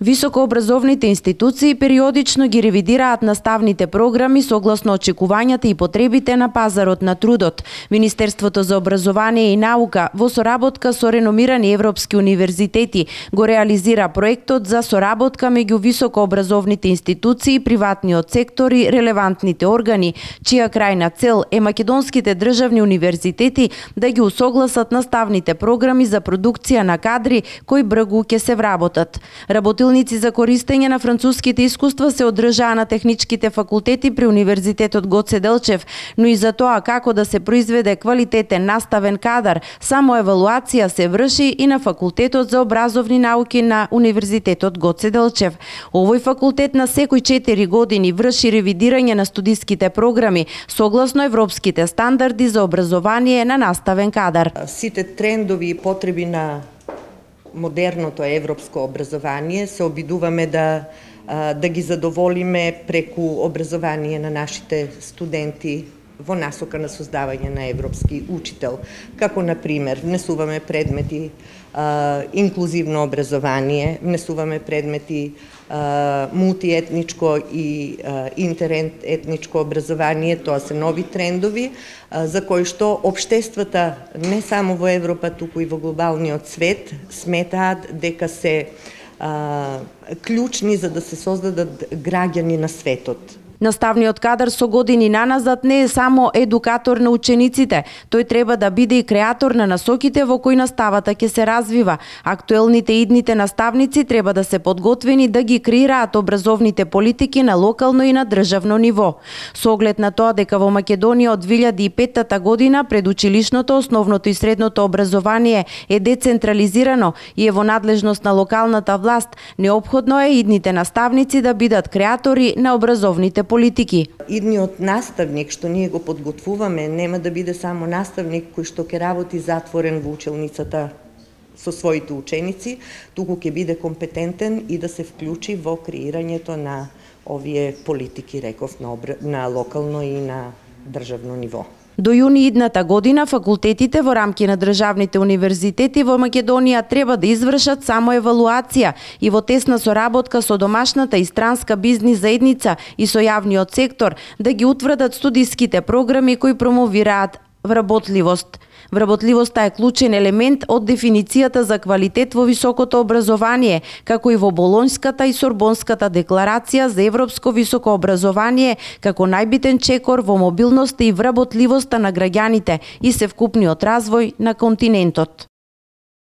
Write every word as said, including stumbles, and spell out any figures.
Високообразовните институции периодично ги ревидираат наставните програми согласно очекувањата и потребите на пазарот на трудот. Министерството за образование и наука во соработка со реномирани европски универзитети го реализира проектот за соработка меѓу високообразовните институции, приватниот сектор и релевантните органи, чија крајна цел е македонските државни универзитети да ги усогласат наставните програми за продукција на кадри кои бргу ќе се вработат. Работилници за користење на француските искуства се одржаа на техничките факултети при Универзитетот Гоце Делчев, но и за тоа како да се произведе квалитетен наставен кадар, само евалуација се врши и на Факултетот за образовни науки на Универзитетот Гоце Делчев. Овој факултет на секои четири години врши ревидирање на студиските програми согласно европските стандарди за образование на наставен кадар. Сите трендови и потреби на модерното европско образование се обидуваме да да ги задоволиме преку образование на нашите студенти во насока на создавање на европски учител, како на пример внесуваме предмети а, инклузивно образование, внесуваме предмети а, мултиетничко и а, интеретничко образование, тоа се нови трендови а, за кои што општествата не само во Европа, туку и во глобалниот свет сметаат дека се а, клучни за да се создадат граѓани на светот. Наставниот кадар со години наназад не е само едукатор на учениците, тој треба да биде и креатор на насоките во кои наставата ќе се развива. Актуелните и идните наставници треба да се подготвени да ги креираат образовните политики на локално и на државно ниво. Со оглед на тоа дека во Македонија од две илјади и петта година предучилишното, основното и средното образование е децентрализирано и е во надлежност на локалната власт, неопходно е идните наставници да бидат креатори на образовните политики. Идниот наставник што ние го подготвуваме нема да биде само наставник кој што ќе работи затворен во училницата со своите ученици, туку ќе биде компетентен и да се вклучи во креирањето на овие политики, реков, на, обр... на локално и на државно ниво. До јуни идната година факултетите во рамки на државните универзитети во Македонија треба да извршат само евалуација и во тесна соработка со домашната и странска бизнис заедница и со јавниот сектор да ги утврдат студиските програми кои промовираат вработливост. Вработливоста е клучен елемент од дефиницијата за квалитет во високото образование, како и во Болонската и Сорбонската декларација за европско високо образование, како најбитен чекор во мобилноста и вработливоста на граѓаните и севкупниот развој на континентот.